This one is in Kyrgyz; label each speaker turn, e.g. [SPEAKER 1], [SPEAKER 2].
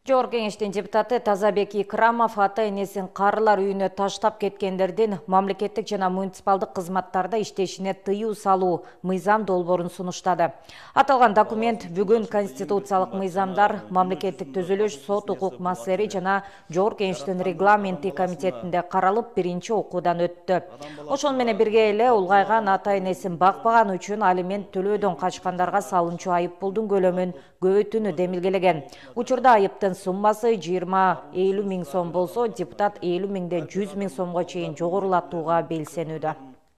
[SPEAKER 1] Жогорку Кеңештин депутаты Тазабек Икрамов ата-энесин карылар үйүнө таштап кеткендердин мамлекеттик жана муниципалдык кызматтарда иштешине тыюу салуу мыйзам долбоорун сунуштады. Аталган документ бүгүн конституциялык мыйзамдар, мамлекеттик түзүлүш, сот укук маселелери жана Жогорку Кеңештин регламенти комитетинде каралып, биринчи окуудан өттү. Ошону менен бирге эле улгайган ата-энесин бакпаган үчүн алимент төлөөдөн качкандарга салынчу айыппулдун көлөмүн көбөйтүүнү демилгелеген. Учурда айыптын суммасы 20-50 миң сом болсо, депутат 50 миңден 100 миң сомго чейин жогорулатууга белсенүүдө.